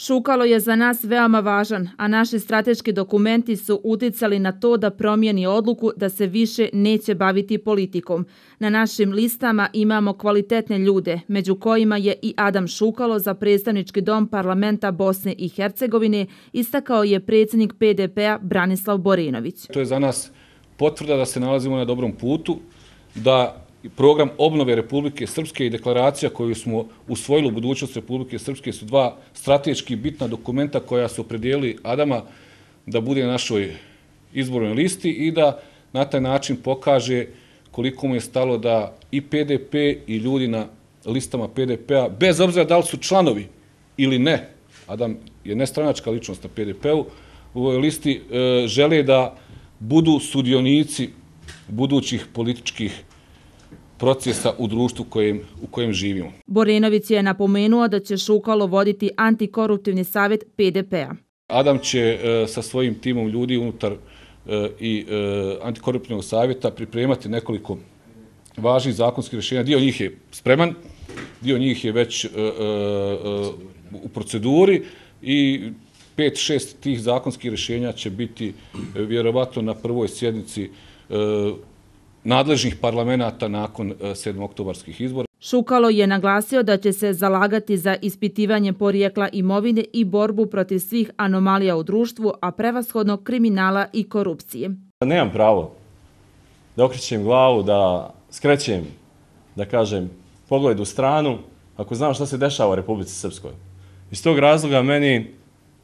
Šukalo je za nas veoma važan, a naši strateški dokumenti su uticali na to da promijeni odluku da se više neće baviti politikom. Na našim listama imamo kvalitetne ljude, među kojima je i Adam Šukalo za predstavnički dom parlamenta Bosne i Hercegovine, istakao je predsjednik PDP-a Branislav Borenović. To je za nas potvrda da se nalazimo na dobrom putu, da program obnove Republike Srpske i deklaracija koju smo usvojili u budućnost Republike Srpske su dva strateški bitna dokumenta koja su opredijelili Adama da bude na našoj izbornoj listi i da na taj način pokaže koliko mu je stalo da i PDP i ljudi na listama PDP-a, bez obzira da li su članovi ili ne, Adam je nestranačka ličnost na PDP-u, u ovoj listi žele da budu sudionici budućih političkih procesa u društvu u kojem živimo. Borenović je napomenuo da će Šukalo voditi antikoruptivni savjet PDP-a. Adam će sa svojim timom ljudi unutar i antikoruptivnog savjeta pripremati nekoliko važnih zakonskih rješenja. Dio njih je spreman, dio njih je već u proceduri i 5-6 tih zakonskih rješenja će biti vjerovatno na prvoj sjednici nadležnih parlamenta nakon 7. oktobarskih izbora. Šukalo je naglasio da će se zalagati za ispitivanje porijekla imovine i borbu protiv svih anomalija u društvu, a prevashodno kriminala i korupcije. Nemam pravo da okrećem glavu, da skrećem, da kažem, pogled u stranu, ako znam šta se dešava u Republici Srpskoj. Iz tog razloga meni,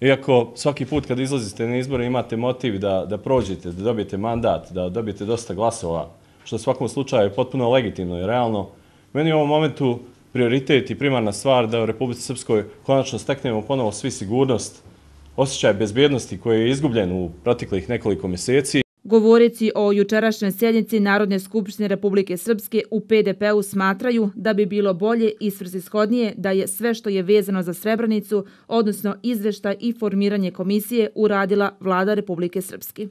iako svaki put kad izlazite na izbore imate motiv da prođete, da dobijete mandat, da dobijete dosta glasova, što u svakom slučaju je potpuno legitimno i realno, meni u ovom momentu prioritet i primarna stvar da u Republici Srpskoj konačno steknemo ponovo svi sigurnost, osjećaj bezbjednosti koji je izgubljen u proteklih nekoliko mjeseci. Govoreći o jučerašnjoj sjednici Narodne skupštine Republike Srpske, u PDP-u smatraju da bi bilo bolje i svrsishodnije da je sve što je vezano za Srebrenicu, odnosno izvještaj i formiranje komisije, uradila Vlada Republike Srpske.